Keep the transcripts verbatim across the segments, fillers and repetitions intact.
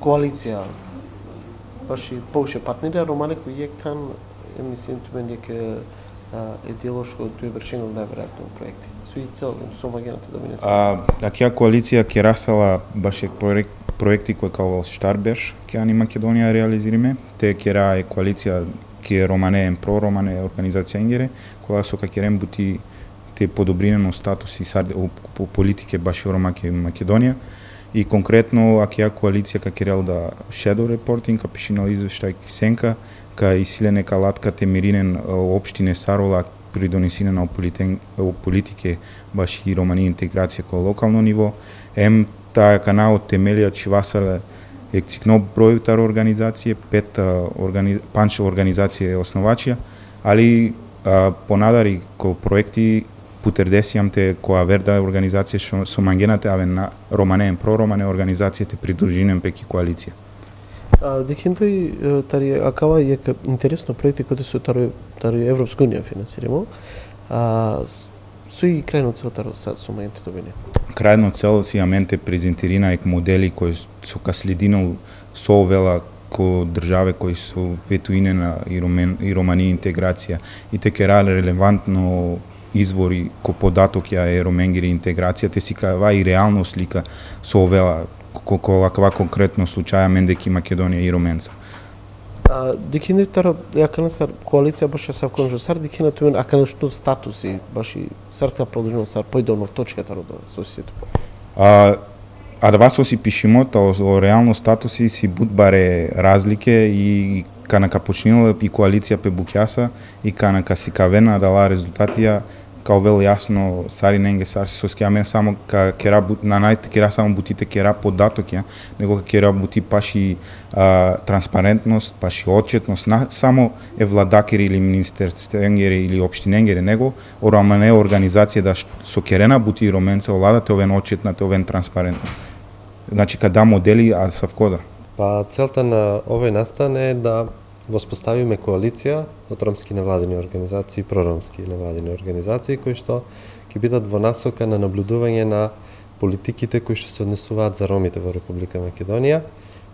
коалиција ваши повише партнери, Романе Којектан, мислим тумен дека е делошко тој вршено најверојатно проекти. Со и цел со магената да минете. А акја коалиција ќе расала баше проект, проекти кои као Штарбеш ќе ани Македонија реализириме. Те ќе ра е коалиција ќе Романе ен про Романе организација Енгере, која со ка ќе бути те подобринено статус и по политике баше Ромаке Македонија. И конкретно акја коалиција ка ќе рел да shadow reporting, ка пишинал извештај Сенка, ка Исилене Калатка Темиринен општине Сарола придонесине на политике баш и романи интеграција ко локално ниво. Ем таа канал темелија Чивасале ексикно бројтар организација, пет органи... панч организација основачија, али а, понадари ко проекти путердесијам те која верда организација што со мангената аве на Романе про Романе организацијата придружинем пеки коалиција. Декин тој тари акава е интересно проекти кои се тари тари Европска унија финансирamo. А со и крајно цел таро со моментот добине. Крајно цел си аменте презентирина ек модели кои со каследино со вела ко државе кои со ветуине на и, ромен, и романи интеграција и те ке релевантно извори ко податок ја е роменгери интеграција, те си кава и реално слика со овела кој аква конкретно случаја Мендеки Македонија и Роменца. А дикине тара јакана сар коалиција баш са конжо сар дикина туен акана што статуси баш и сарта продолжено сар појдоно точката до сосието. А а да вас си пишимо то о реално статуси си будбаре разлике и канака почнила и коалиција пе Букјаса и канака си кавена дала резултатија као вел јасно сари ненге сар се соскјаме само ка кера на најте кера само бутите кера податокја, него кера бути паши а, транспарентност, паши отчетност на само е владакери или министерственгери или општиненгери, него орамане организација да со керена бути роменца оладате овен отчетнате овен транспарентно. Значи када модели а са вкода. Па целта на овој настан е да воспоставиме коалиција од ромски невладини организации и проромски невладини организации кои што ќе бидат во насока на наблюдување на политиките кои што се однесуваат за ромите во Република Македонија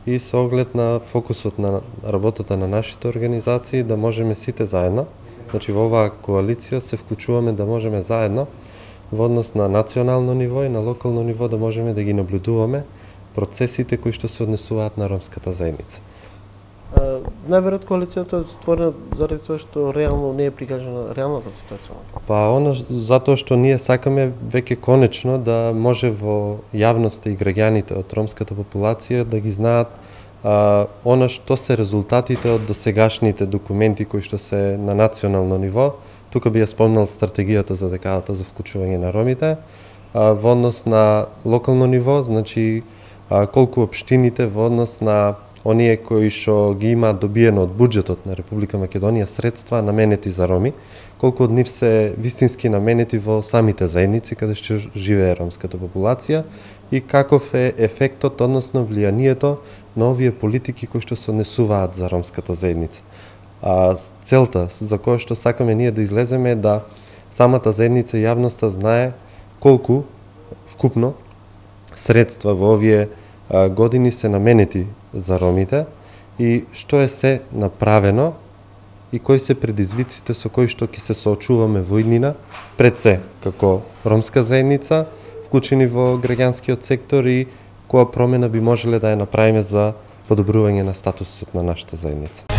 и со оглед на фокусот на работата на нашите организации да можеме сите заедно, значи во оваа коалиција се вклучуваме да можеме заедно во однос на национално ниво и на локално ниво да можеме да ги наблюдуваме процесите кои што се однесуваат на ромската заедница. Најверојатно коалицијата е створена заради тоа што реално не е прикажана реалната ситуација. Па оно затоа што ние сакаме веќе конечно да може во јавноста и граѓаните од ромската популација да ги знаат а, она што се резултатите од досегашните документи кои што се на национално ниво. Тука би ја спомнал стратегијата за декадата за вклучување на ромите, а, во однос на локално ниво, значи а, колку општините во однос на оние кои што ги имаат добиено од буџетот на Република Македонија средства наменети за роми, колку од нив се вистински наменети во самите заедници каде што живее ромската популација и каков е ефектот, односно влијанието на овие политики кои што се однесуваат за ромската заедница. А целта за која што сакаме ние да излеземе е да самата заедница и јавноста знае колку вкупно средства во овие години се наменети за ромите и што е се направено и кои се предизвиците со кои што ќе се соочуваме во иднина пред се како ромска заедница, вклучени во граѓанскиот сектор и која промена би можеле да ја направиме за подобрување на статусот на нашата заедница.